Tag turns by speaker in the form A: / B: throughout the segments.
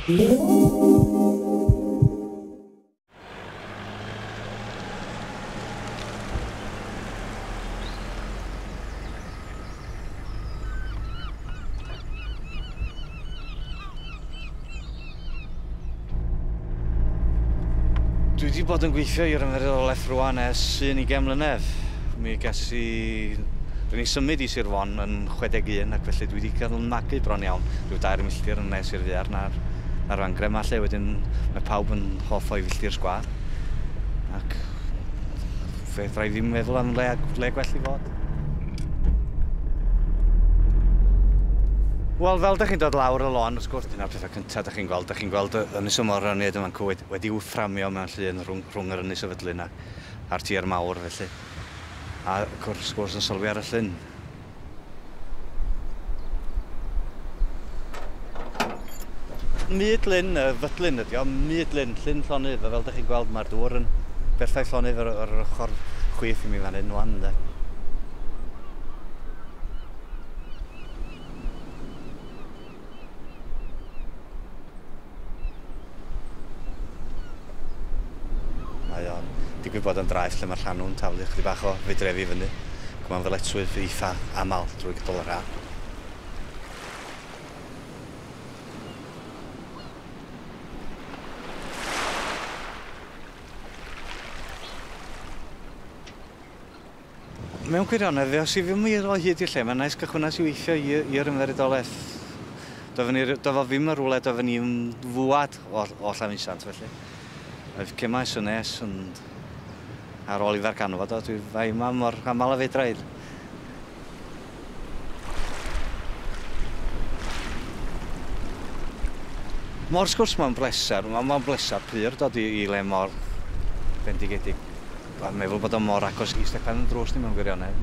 A: Dwi wedi bod yn gweithio i'r Ymddiriedolaeth rwan ers 21 mlynedd. Mi ges i... Rwy'n i symud i Sir Fôn yn 61 ac felly dwi wedi cael yn magu bron iawn rhyw 3 milltir yn nes i'r ddaear na'r fangre yma lle wedyn mae pawb yn hoff o'i filltir sgwâr ac fedra i ddim meddwl am le gwell i fod. Wel, fel dych chi'n dod lawr y lôn, wrth gwrs, dyna'r pethau cyntaf dych chi'n gweld. Dych chi'n gweld Ynys y Moroniaid yma'n cwyd wedi'w fframio mewn llun rhwng yr Ynys y Fydlyn a'r tir mawr, felly. A wrth gwrs yn sylwi ar y llyn. Myd lyn, y Fydlyn ydi o, myd lyn, llyn llonydd, a fel dych chi'n gweld mae'r dŵr yn berffaith llonydd ar yr ochr chwith i mi fan hyn wan, de. Mae o'n digwydd bod yn draeth lle mae'r llanw'n taflu chydig bach o fudrefi fyny. Ac mae'n ddyletswydd eitha aml drwy gydol yr haf. Mewn gwirionedd, os i fi mynd o hyd i'r lle, mae'n nice cychwynnas i weithio i'r Ymddiriedolaeth. Doedd o ddim yn rhywle, doedd ni'n fwad o Llanfeusant, felly. Oedd cymais yn nes, ond ar ôl i ddarganfod o, dwi fai yma mor aml a fedra i. Mor sgwrs mae'n bleser, mae'n bleser pur dod i le mor bendigedig. Dwi'n meddwl bod o mor agos i stepan yn drws ni mewn gwirionedd.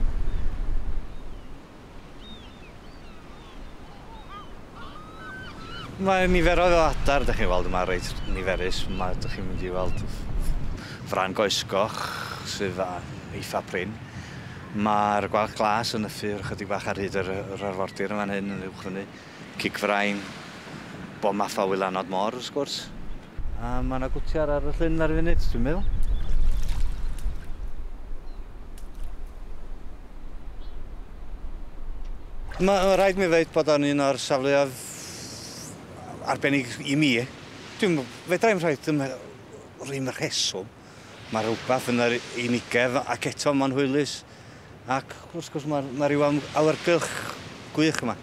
A: Mae niferoedd o adar, dych chi'n weld yma reit niferus. Mae, dych chi'n mynd i weld fran goesgoch sydd eitha prin. Mae'r gwalch glas yn nythu ychydig bach ar hyd yr arfordir yn fan hyn yn uwch fyny. Cigfrain, bob math o wylanod môr, wrth gwrs. A mae yna gwtiar ar y llyn ar y funud, dwi'n meddwl. Mae rhaid mi ddweud bod o'n un o'r safleoedd arbennig i mi. Fedra i'm rhoi ddim rheswm. Mae rhywbeth yn yr unigedd ac eto mae'n hwylus. Ac wrth gwrs mae rhyw awyrgylch gwych yma.